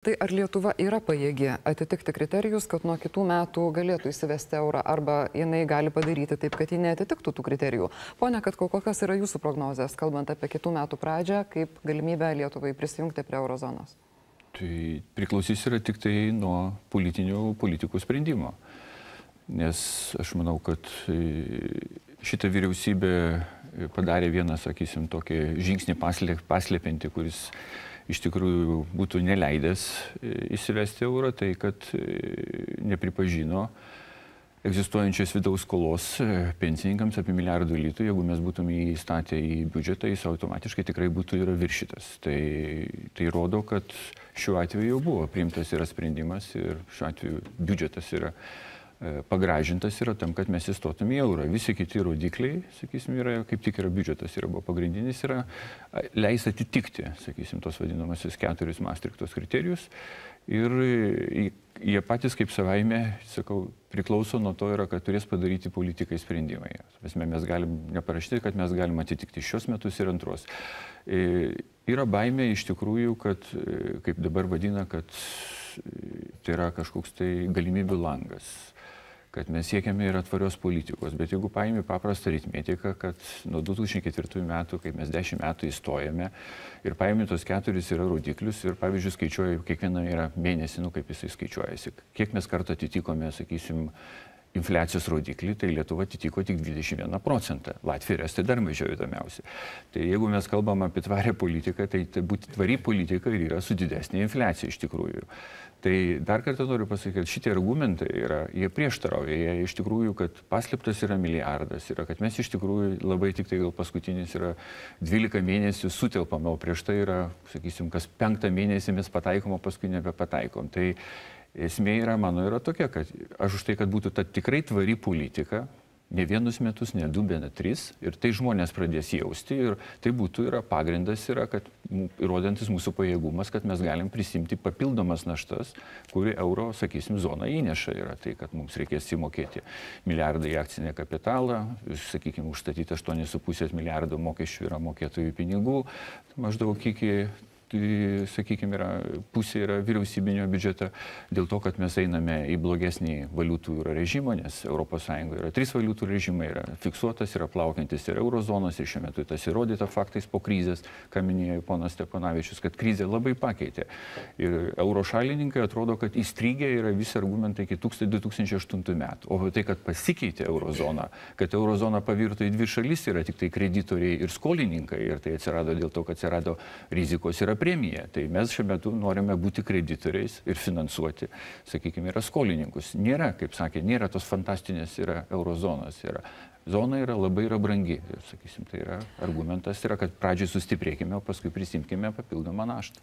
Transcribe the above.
Tai ar Lietuva yra pajėgi atitikti kriterijus, kad nuo kitų metų galėtų įsivesti eurą, arba jinai gali padaryti taip, kad ji neatitiktų tų kriterijų? Pone Katkau, kokios yra jūsų prognozės, kalbant apie kitų metų pradžią, kaip galimybę Lietuvai prisijungti prie eurozonos? Tai priklausys yra tik tai nuo politikų sprendimo. Nes aš manau, kad šita vyriausybė padarė vieną, sakysim, tokį žingsnį paslėpinti, kuris iš tikrųjų būtų neleidęs įsivesti eurą, tai kad nepripažino egzistuojančios vidaus skolos pensininkams apie 1 milijardų litų. Jeigu mes būtume įstatę į biudžetą, jis automatiškai tikrai būtų yra viršytas. Tai rodo, kad šiuo atveju jau buvo priimtas yra sprendimas ir šiuo atveju biudžetas yra pagražintas yra tam, kad mes įstotume į eurą. Visi kiti rodikliai, sakysim, yra, kaip tik yra biudžetas, yra buvo pagrindinis, yra leis atitikti, sakysim, tos vadinamasios 4 Maastrichtos kriterijus. Ir jie patys kaip savaime, sakau, priklauso nuo to yra, kad turės padaryti politikai sprendimai. Mes galim neparašyti, kad mes galim atitikti šios metus ir antros. Yra baimė iš tikrųjų, kad, kaip dabar vadina, kad tai yra kažkoks tai galimybių langas, kad mes siekiame ir atvarios politikos. Bet jeigu paimi paprastą aritmetiką, kad nuo 2004 metų, kaip mes 10 metų įstojame, ir paimi tos 4 yra rodiklius ir, pavyzdžiui, skaičiuoja kiekvieną yra mėnesį, kaip jisai skaičiuojasi, kiek mes kartą atitikome, sakysim, infliacijos rodiklį, tai Lietuva atitiko tik 21%. Latvija ir Estija dar mažiau įdomiausia. Tai jeigu mes kalbam apie tvarę politiką, tai būti tvari politika ir yra su didesnė infliacija iš tikrųjų. Tai dar kartą noriu pasakyti, kad šitie argumentai yra, jie prieštarauja, jie iš tikrųjų, kad paslėptas yra milijardas, yra, kad mes iš tikrųjų labai tik tai gal paskutinis yra 12 mėnesių sutelpame, o prieš tai yra, sakysim, kas 5 mėnesį mes pataikom, o paskui nebepataikom. Tai esmė yra, mano, yra tokia, kad aš už tai, kad būtų ta tikrai tvari politika, ne 1 metus, ne 2, bet 3, ir tai žmonės pradės jausti, ir tai būtų yra pagrindas, yra, kad įrodantis mūsų pajėgumas, kad mes galim prisimti papildomas naštas, kuri euro, sakysim, zona įneša yra. Tai, kad mums reikės įmokėti milijardą į akcinę kapitalą, sakykim, užstatyti 8,5 milijardo mokesčių yra mokėtojų pinigų, maždaug iki, sakykime, pusė yra vyriausybinio biudžeto, dėl to, kad mes einame į blogesnį valiutų režimą, nes ES yra 3 valiutų režimai, yra fiksuotas, yra plaukiantis ir eurozonos, ir šiuo metu tas įrodyta faktais po krizės, ką minėjo ponas Stepanavičius, kad krizė labai pakeitė. Ir euro šalininkai atrodo, kad įstrigę yra visi argumentai iki 2008 metų. O tai, kad pasikeitė eurozona, kad eurozona pavirto į 2 šalis, yra tik tai kreditoriai ir skolininkai, ir tai atsirado dėl to, kad atsirado rizikos yra premija. Tai mes šiuo metu norime būti kreditoriais ir finansuoti, sakykime, yra skolininkus. Nėra, kaip sakė, nėra tos fantastinės yra eurozonos. Zona yra labai brangi. Ir, sakysim, tai yra argumentas, yra, kad pradžiai sustiprėkime, o paskui prisimkime papildomą naštą.